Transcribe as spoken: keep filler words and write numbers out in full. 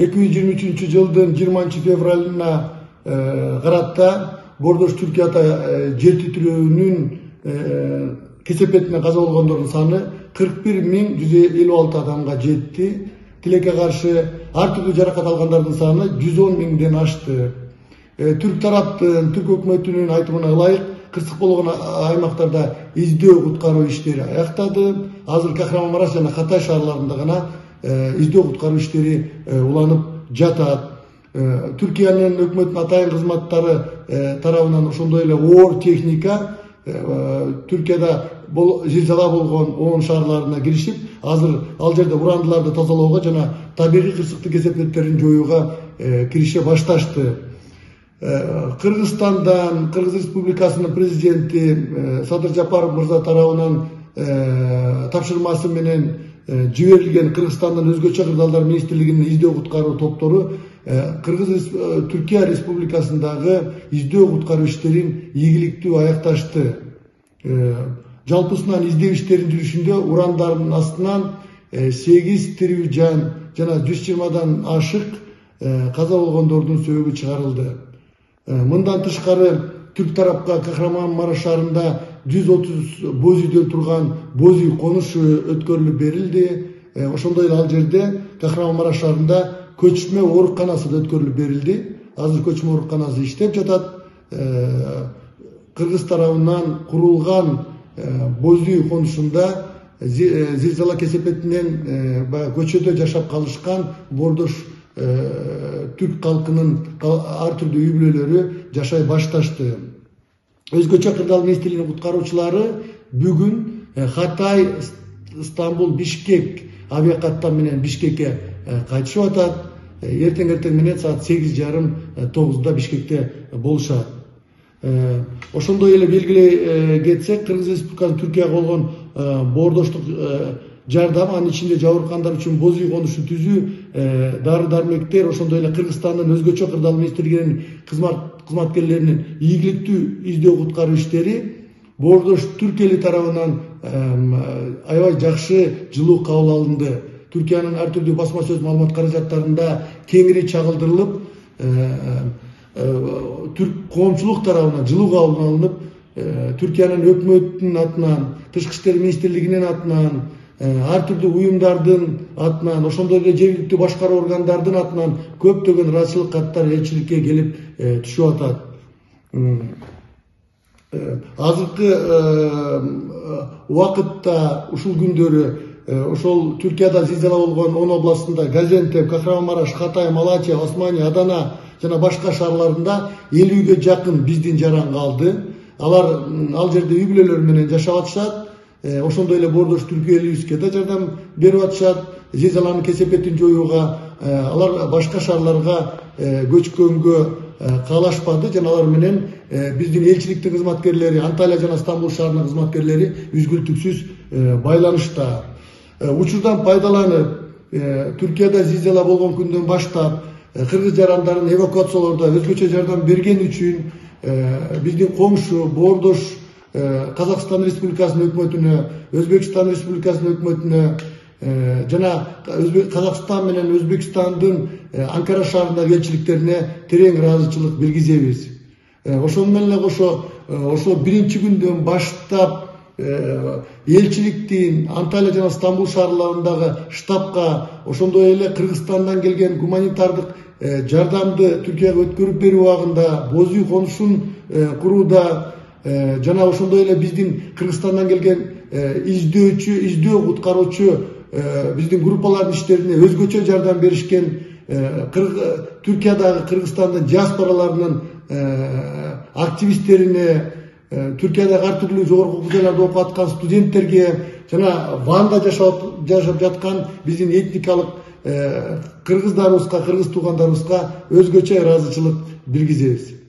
эки жүз жыйырма үчүнчү жылдын жыйырманчы февралына карата Бордош Түркияда жер титирөөнүн кесепетинен каза болгондордун саны кырк бир миң жүз элүү алты адамга жетти. Тилекке каршы ар түрдүү жаракат алгандардын саны жүз он миңден ашты. Түрк тараптын, түрк өкмөтүнүн айтымына ылайык, кырсык болгон аймактарда издөө куткаруу иштери аяктады. Азыр Кахраманмараш жана Хатай шаарларында гана издөө куткаруу иштери уланып жатат. Түркиянын өкмөттүнүн атайын кызматтары тарабынан ошондой эле оор техника Түркияда зилзала болгон он шаарларына киришип, азыр ал жерде урандыларды тазалоого жана табигый кырсыктын кесепеттерин жоюуга кирише башташты. Кыргызстандан Кыргыз Республикасынын президенти Садыр Жапаров мырза тарабынан тапшырмасы менен жиберилген Кыргызстандын өзгөчө кырдаалдар министрлигинин издөө куткаруу топтору Кыргыз Түркия Республикасындагы издөө куткаруу иштерин ийгиликтүү аякташты. Жалпысынан издөө иштеринин жүрүшүндө урандардын астынан сегиз тирүү жан жана жүз жыйырмадан ашык каза болгондордун сөөгү чыгарылды. Мындан тышкары түрк тарапка Кахраманмараш шаарында жүз отуз боз үйдөн турган боз үй конушу өткөрүлүп берилди. Ошондой эле ал жерде Кахраманмараш шаарында көчмө ооруканасы да өткөрүлүп берилди. Азыр көчмө ооруканасы иштеп жатат. Кыргыз тарабынан курулган боз үй конушунда зилзала кесепетинен көчөдө жашап калышкан Бордош түрк калкынын ар түрдүү үй бүлөлөрү жашай башташты. Өзгөчө кырдаал министрлигинин куткаруучулары бүгүн Хатай, Стамбул, Бишкек авиакаттам менен Бишкекке кайтышып атат. Эртең эртең менен саат сегиз жарым тогузда Бишкекте болушат. Ошондой эле белгилей кетсек, Кыргыз Республикасынын Түркияга болгон бордоштук жардам, анын ичинде жабыркагандар үчүн боз үй конушун түзүү, дары дармектер, ошондой эле Кыргызстандын өзгөчө кырдаал министрлигинин кызматкерлеринин ийгиликтүү издөө куткаруу иштери Бордош түрк эли тарабынан аябай жакшы жылуу кабыл алынды. Түркиянын ар түрдүү басма сөз маалымат каражаттарында кеңири чагылдырылып, түрк коомчулук тарабынан жылуу кабыл алынып, Түркиянын өкмөтүнүн атынан, Тышкы иштер министрлигинин атынан, ар түрдүү уюмдардын атынан, ошондой эле жергиликтүү башкаруу органдардын атынан көптөгөн ыраазычылык каттар элчиликке келип түшүп атат. Азыркы убакытта ушул күндөрү ошол Түркияда зилзала болгон он областында Газиантеп, Кахраманмараш, Хатай, Малачия, Османия, Адана жана башка шаарларында элүүгө жакын биздин жаран калды. Алар ал жерде үй бүлөлөр менен жашап атышат. Ошондой эле Бордош түрк элибизге да жардам берип атышат. Зилзаланын кесепетин жоюуга алар башка шаарларга көчкөнгө каалашпады жана алар менен биздин элчиликтин кызматкерлери, Анталия жана Стамбул шаарынын кызматкерлери үзгүлтүксүз байланышта. Учурдан пайдаланып, Түркияда зилзала болгон күндөн баштап кыргыз жарандарын эвакуациялоодо өзгөчө жардам берген үчүн биздин коңшу Бордош Казакстан Республикасынын өкмөтүнө, Өзбекстан Республикасынын өкмөтүнө жана Казакстан менен Өзбекстандын Анкара шаарындагы элчиликтерине терең ыраазычылык билгизебиз. Ошону менен эле кошо ошо биринчи күндөн баштап элчиликтин Анталия жана Стамбул шаарларындагы штабка, ошондой эле Кыргызстандан келген гуманитардык жардамды Түркияга өткөрүп берүү убагында боз үй конушун курууда жана ошондой эле биздин Кыргызстандан келген издөөчү, издөө куткаруучу биздин группалардын иштерине өзгөчө жардам беришкен Түркиядагы Кыргызстандын диаспораларынын активисттерине, Түркиядагы ар түрдүү жогорку окуу жайларда окуп аткан студенттерге жана Ванда жашап жаткан биздин этникалык кыргыздарыбызга, кыргыз туугандарыбызга өзгөчө ыраазычылык билгизебиз.